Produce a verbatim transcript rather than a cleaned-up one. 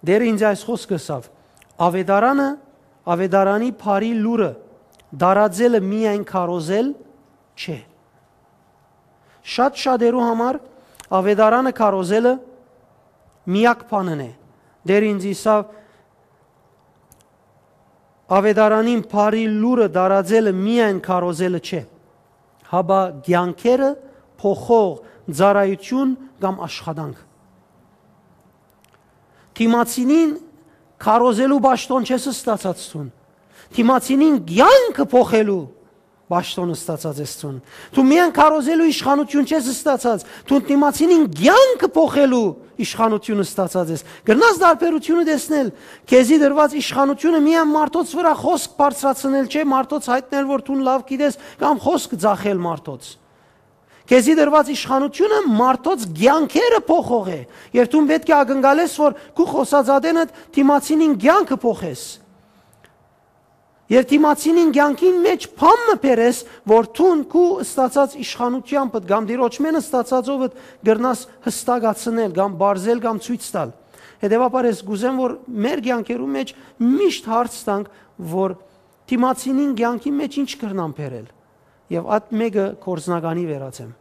Տէրը ինծի այս խօսքը ըսաւ. «Աւետարանը, Աւետարանի բարի լուրը տարածելը միայն քարոզել չէ»։ Շատ շատերու համար Աւետարանը քարոզելը միակ բանն է։ Տէրը ինծի ըսաւ. «Աւետարանին բարի լուրը տարածելը միայն քարոզելը չէ, հապա կեանքերը փոխող ծառայութիւն կամ աշխատանք»։ Դիմացինին քարոզելու պաշտօն չես ստացած դուն։ Դիմացինին կեանքը փոխելու պաշտօն ստացած ես դուն։ Դու միայն քարոզելու իշխանութիւն չես ստացած, դու դիմացինին կեանքը փոխելու իշխանութիւն ստացած ես։ Կրնաս տարբերութիւնը տեսնել։ Քեզի տրուած իշխանութիւնը միայն մարդոց վրայ խօսք բարձրացնել չէ, մարդոց յայտնել, որ դուն լաւ գիտես, կամ խօսք ծախել մարդոց։ Քեզի տրուած իշխանութիւնը մարդոց կեանքերը փոխող է, եւ դուն պէտք է ակնկալես, որ քու խօսած ատենդ դիմացինին կեանքը փոխես։ Եւ դիմացինին կեանքին մէջ բան մը բերես, որ դուն քու ստացած իշխանութեամբդ կամ տիրոջմէն ստացածովդ կրնաս յստակացնել կամ պարզել կամ ցոյց տալ։ Հետեւաբար ես կ'ուզեմ, որ մեր կեանքերու մէջ միշտ հարց տանք, որ դիմացինին կեանքի մէջ ինչ կրնամ բերել, եւ այդ մէկը գործնականի վերածեմ։